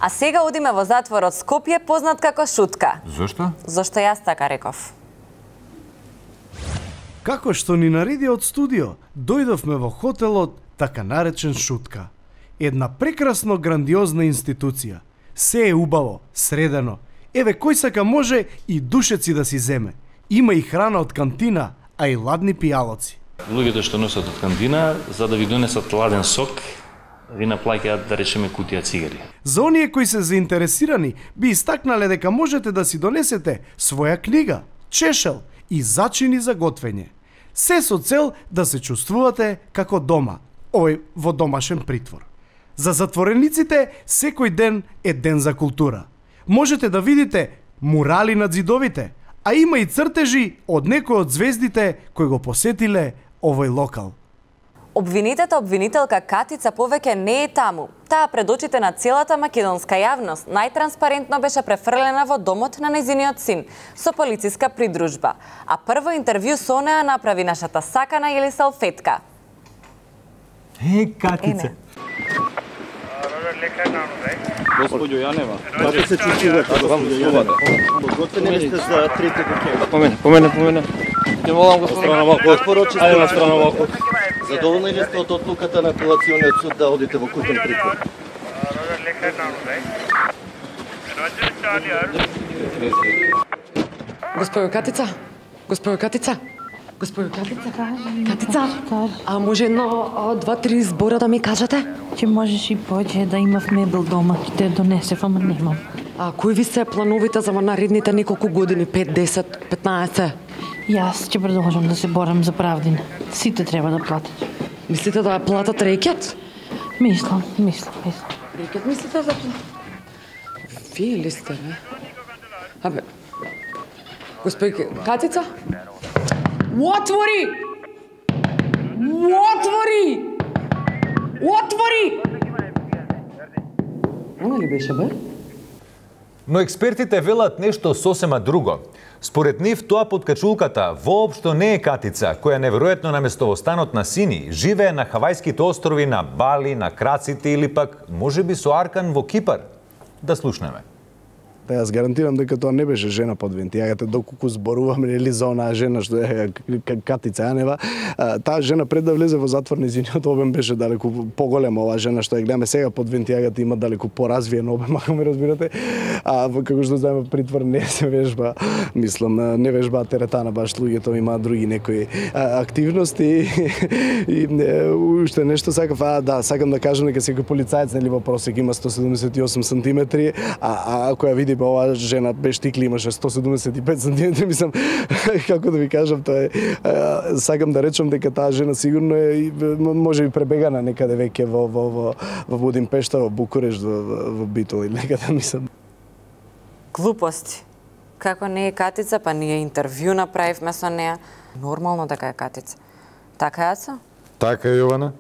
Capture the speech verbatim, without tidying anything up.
А сега одиме во затворот Скопје, познат како Шутка. Зошто? Зошто јас така реков. Како што ни нареди од студио, дојдовме во хотелот така наречен Шутка. Една прекрасно грандиозна институција. Се е убаво, средено. Еве кој сака може и душеци да си земе. Има и храна од кантина, а и ладни пијалоци. Луѓето што носат од кантина, за да ви донесат ладен сок, ви наплаќаат, да речеме, кутија цигари. За оние кои се заинтересирани, би истакнале дека можете да си донесете своја книга, чешел и зачини за готвење. Се со цел да се чувствувате како дома, овој во домашен притвор. За затворениците секој ден е ден за култура. Можете да видите мурали над зидовите, а има и цртежи од некои од звездите кои го посетиле овој локал. Обвинетата обвинителка Катица повеќе не е таму. Таа пред очите на целата македонска јавност најтранспарентно беше префрлена во домот на нејзиниот син со полициска придружба. А прво интервју со неа направи нашата сакана Елиса Фетка. Е, Катица. Господјо Јанева, како се чувствувате, господјо Јанева? Подготвени ли сте за трите кокејна? Помене, помене, помене. Ќе молам господин. Страна малку. Порочи Ајде на страна малку. Задоволни ли сте од одлуката на апелациониот суд да одите во кутен притвор? Господјо Катица? Господјо Катица? Господјо Катица? Катица? А може едно, два, три збора да ми кажете? Ќе можеш и поќе да имав мебел дома, ќе те донесев, ама немам. А кои ви се плановите за наредните неколку години, пет, десет, петнаесет? Јас ќе продолжам да се борам за правдина. Сите треба да платат. Мислите да ја платат рекет? Мислам, мислам, мислам. Рекет мислите да... Вие ли сте, бе? Абе... Господј Катица? Отвори! Отвори! Отвори! Она ли беше, бе? Но експертите велат нешто сосема друго. Според нив, тоа подкачулката воопшто не е Катица, која неверојатно наместо во станот на Сини живее на Хавајските острови, на Бали, на Краците или пак можеби со Аркан во Кипар. Да слушнеме. Та јас гарантирам дека тоа не беше жена под вентијагата, доколку зборуваме нели за онаа жена што е Катица Јанева. Таа жена пред да влезе во затвор нејзиниот обем беше далеку поголема. Оваа жена што ја гледаме сега под вентијагата има далеку поразвиен обем, ако ме разбирате. А како што знаеме, притвор не се вежба, мислам, не вежба теретана, баш луѓето имаат други некои активности. И уште нешто сакав, а да, сакам да кажам дека секој полицаец нели во просек има сто седумдесет и осум сантиметри, а, а ако ја види оваа жена без тикли имаше сто седумдесет и пет сантиметри, мислам, како да ви кажам, тоа е, сакам да речам дека таа жена сигурно е може би пребегана некаде веќе во во во во Будимпешта, во Букуреш, во, во Битол или некаде, мислам. Глупости. Како не е Катица, па ние интервју направивме со неа. Нормално дека е Катица. Така е, Ацо? Така е, Јована.